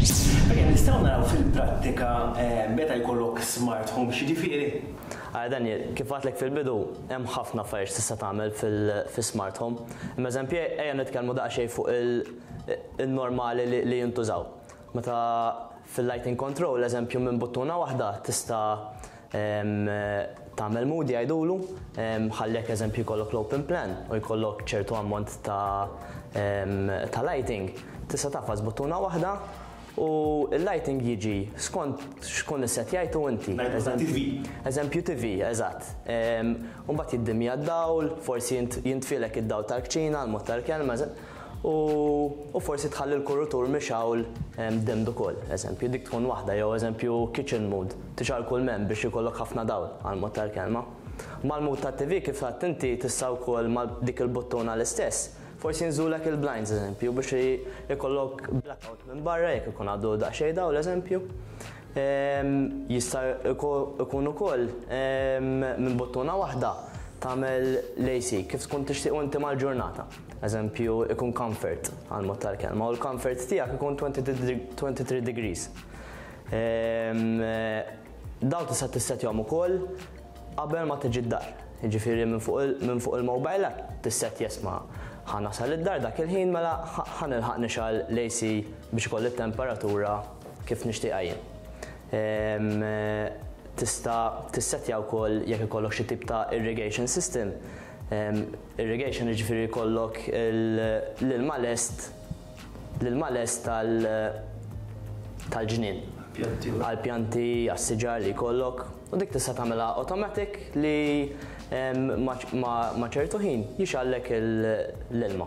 Ejja, nistgħu naraw fil-prattika meta jkollok smart home x'jiġifieri? Ara Daniel, kif għedtlek fil-bidu, hemm ħafna affarijiet x'tista' tagħmel fis-smart home. Imma eżempju, ejja nitkellmu daqsxejn fuq il-normali li jintużaw. Meta fil-lighting control, eżempju minn buttuna waħda tista' tagħmel mood jgħidulu, ħalli jekk eżempju jkollok l-open plan u jkollok ċertu ammont ta' ta' lighting, tista' tagħfas buttuna waħda u l-lighting jiġi skont x'tkun issettjajtu inti. TV. Eżempju TV, eżatt. U mbagħad jiddimja d-dawl, forsi jintfilek id-dawl tal-kċina, l-mod tal-kelma, u forsi tħalli l-kurutur mixgħul dimmed ukoll, eżempju, dik tkun waħda, jew eżempju kitchen mode, tixgħal kull m'hemm biex ikollok ħafna dawl għall-mod tal-kelma. Mal-mode tat-TV kif għedt inti tista' wkoll ma' dik il-buttuna l-istess, forsi jinżulek il-blinds eżempju biex ikollok blackout minn barra jekk ikun għadu daqsxejn dawl eżempju. Jista' ikun ukoll minn buttuna waħda tagħmel l-AC kif tkun tixtieq inti mal-ġurnata. Eżempju, ikun comfort għal mod tal-kelma u l-comfort tiegħek ikun 23 degrees. Daw tista' tissetjahom ukoll qabel ma tiġi d-dar. Jiġifieri minn fuq il-mobile app tissettja isma' ħa nasal id-dar dak il-ħin mela ħa nilħaq nixgħal l-AC biex ikolli t-temperatura kif nixtieqha jien. Tista' tissettja wkoll jekk ikollok xi tip ta' irrigation system. Irrigation jiġifieri jkollok l-ilma lest l-ilma lest tal-ġnien. Għall-pjanti, għas-siġar li jkollok. U dik tista' tagħmilha automatic li ma' ċertu ħin jixgħallek l-ilma.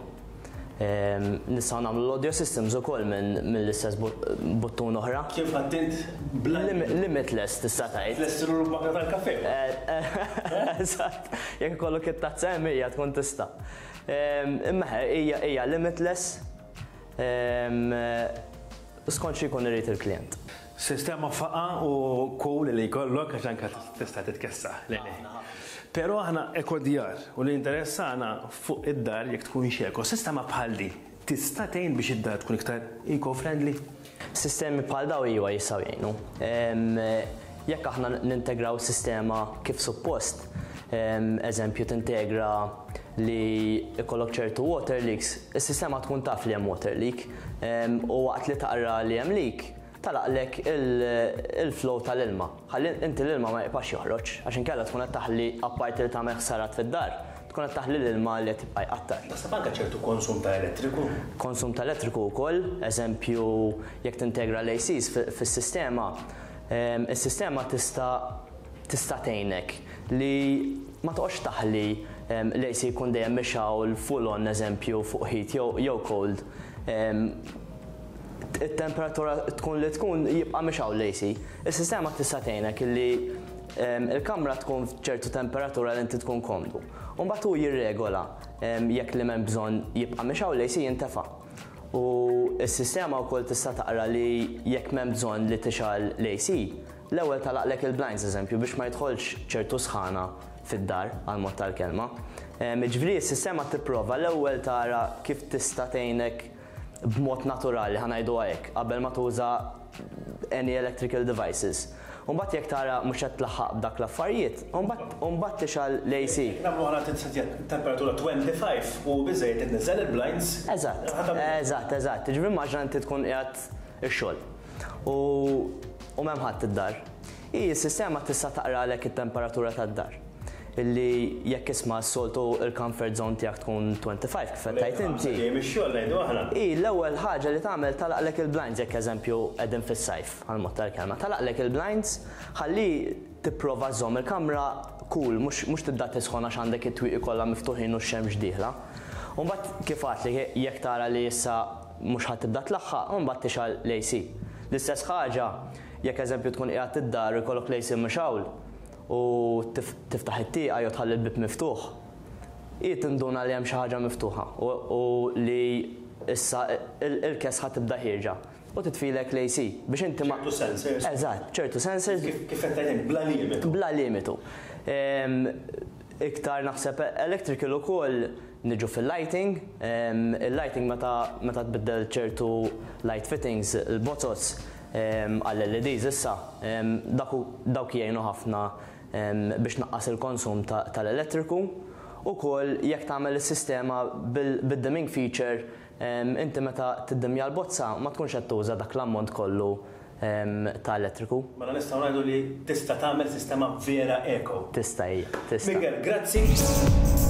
Nistgħu nagħmlu l-audio systems ukoll mill-istess buttun oħra. Kif għedt int bla Limitless tista' tgħid. Tlestilu l-bakra tal-kafè. Eżatt. Jekk ikollok it-tazza hemm hija tkun tista'. Imma hija limitless skont xi jkun irid il-klient. Sistema faqa u cool li jkollok għax anke tista' titkessaħ. Le, le. Però aħna ekodjar u li interessana fuq id-dar jekk tkunx eko. Sistema bħal di tista' tgħin biex id-dar tkun iktar eco-friendly? Sistemi bħal daw iva jistgħu jgħinu. Jekk aħna nintegraw sistema kif suppost, eżempju tintegra li jkollok ċertu water leaks, is-sistema tkun taf li hemm water leak u waqt li taqra li hemm leak, tagħlaqlek il-flow tal-ilma. Ħalli inti l-ilma ma jibqax joħroġ, għax inkella tkun qed taħli apparti li tagħmel ħsarat fid-dar, tkun qed taħli l-ilma li qed tibqa' jqattar. Naħseb anke ċertu konsum ta' elettriku. Konsum ta' elettriku wkoll, eżempju jekk tintegra l-ACs fis-sistema, is-sistema tista' tista' tgħinek li ma toqgħodx taħli l-AC jkun dejjem mixgħul full on eżempju fuq heat jew cold. It-temperatura tkun li tkun jibqa' mixgħul l-AC. Is-sistema tista' tgħinek illi il-kamra tkun f'ċertu temperatura li inti tkun komdu. U mbagħad hu jirregola jekk li m'hemm bżonn jibqa' mixgħul l-AC jintefa'. U s-sistema wkoll tista' taqra li jekk m'hemm bżonn li tixgħal l-AC, l-ewwel tagħlaqlek il-blinds eżempju biex ma jidħolx ċertu sħana fid-dar għal mod tal-kelma. Jiġifieri s-sistema tipprova l-ewwel tara kif tista' tgħinek b'mod naturali, ħa ngħiduha hekk, qabel ma tuża any electrical devices. U mbagħad jekk tara mhux qed tlaħħaq b'dak l-affarijiet, u mbagħad tixgħal l-AC. Nagħmlu aħna temperatura 25 u biżżejjed tniżżel il-blinds. Eżatt, eżatt, eżatt. Jiġifieri immaġina inti tkun qiegħed ix-xogħol u u m'hemm ħadd id-dar. Hi s-sistema tista' taqralek it-temperatura tad-dar. Illi jekk isma' s-soltu il-comfort zone tiegħek tkun 25 kif qed tgħid inti. Ġej mix-xogħol ngħidu aħna. Hi l-ewwel ħaġa li tagħmel tagħlaqlek il-blinds jekk eżempju qegħdin fis-sajf għal mod tal-kelma. Tagħlaqlek il-blinds ħalli tipprova żżomm il-kamra cool mhux mhux tibda tisħon għax għandek it-twieqi kollha miftuħin u x-xemx dieħla. U mbagħad kif għedtlek jekk tara li issa mhux ħa tibda tlaħħaq, u mbagħad tixgħal l-AC. L-istess ħaġa jekk eżempju tkun qiegħed id-dar u jkollok l-AC mixgħul u tiftaħ it-tieqa jew tħalli l-bieb miftuħ, hi tinduna li hemm xi ħaġa miftuħa u li issa il-kesħa tibda ħierġa u titfilek l-AC biex inti ma. Ċertu sensors. Eżatt, ċertu sensors. Kif qed tgħid int, bla limitu. Bla limitu. Iktar naħseb electrical ukoll. Niġu fil-lighting, il-lighting meta meta tbiddel ċertu light fittings, il-bozoz għall-LEDs issa, dak dawk jgħinu ħafna biex tnaqqas il-konsum tal-elettriku. Ukoll jekk tagħmel is-sistema bid-dimming feature, inti meta tiddimja l-bozza ma tkunx qed tuża dak l-ammont kollu ta' elettriku. Mela nistgħu ngħidu li tista' tagħmel sistema vera eco. Tista' hija, tista'. Miguel, grazzi.